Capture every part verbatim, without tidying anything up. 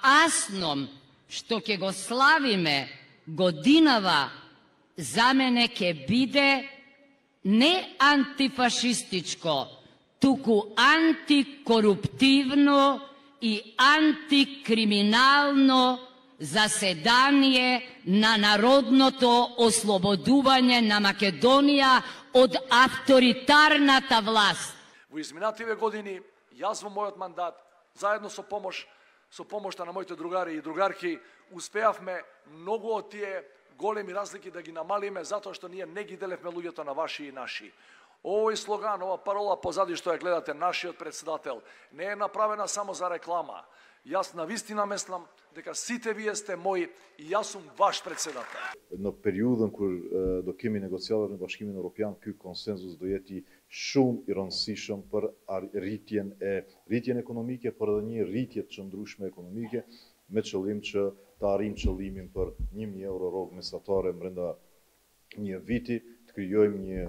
асном што ќе го славиме годинава за мене ќе биде не антифашистичко, туку антикоруптивно и антикриминално заседание на народното ослободување на Македонија од авторитарната власт. Во изминативе години, јас во мојот мандат, заедно со помош, со помошта на моите другари и другарки, успеавме многу од тие големи разлики да ги намалиме, затоа што ние не ги делевме луѓето на ваши и наши. Овој слоган, ова парола позади што ја гледате, нашиот председател, не е направена само за реклама. Јас навистина мислам дека сите вие сте мои и јас сум ваш председател. Në periudhën kur do kemi negociatat në Bashkimin Evropian, ky konsenzus do jeti shumë i rëndësishëm për rritjen e rritjen ekonomike, për edhe një rritje të qëndrueshme ekonomike, me qëllim që të arrijmë qëllimin për një mijë euro rrogë mesatare brenda një viti, të krijojmë një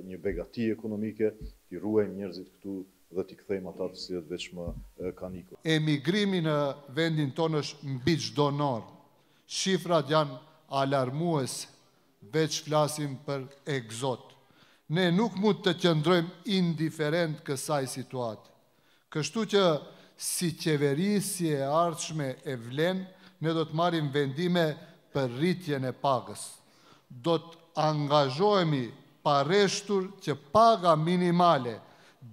një begati ekonomike, të ruajmë njerëzit këtu dhe t'i kthejmë ata të cilët veç më kanë ikur. Emigrimi në vendin tonë është mbi çdo normë. Shifrat janë alarmuese, veç flasim për egzot. Ne nuk mund të qëndrojmë indiferent kësaj situate. Kështu që si qeveri, si e ardhshme e vlen, ne do të marrim vendime për rritjen e pagës. Do të angazhohemi pareshtur që paga minimale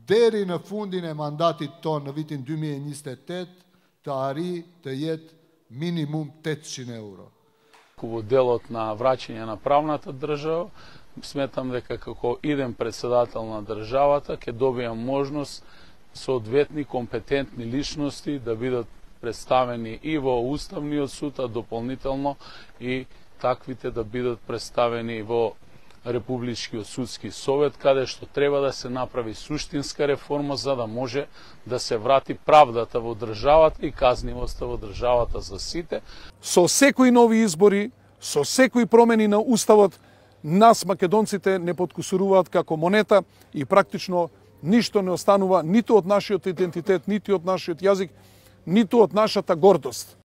deri në fundin e mandatit tonë në vitin dy mijë e njëzet e tetë të arrijë të jetë minimum tetëqind euro. Во делот на враќање на правната држава, сметам дека како идем председател на државата ќе добијам можност соодветни компетентни личности да бидат представени и во Уставниот суд, а дополнително и таквите да бидат представени во Републичкиот судски совет, каде што треба да се направи суштинска реформа за да може да се врати правдата во државата и казнивоста во државата за сите. Со секои нови избори, со секои промени на уставот, нас македонците не подкусуруваат како монета и практично ништо не останува ниту од нашиот идентитет, ниту од нашиот јазик, ниту од нашата гордост.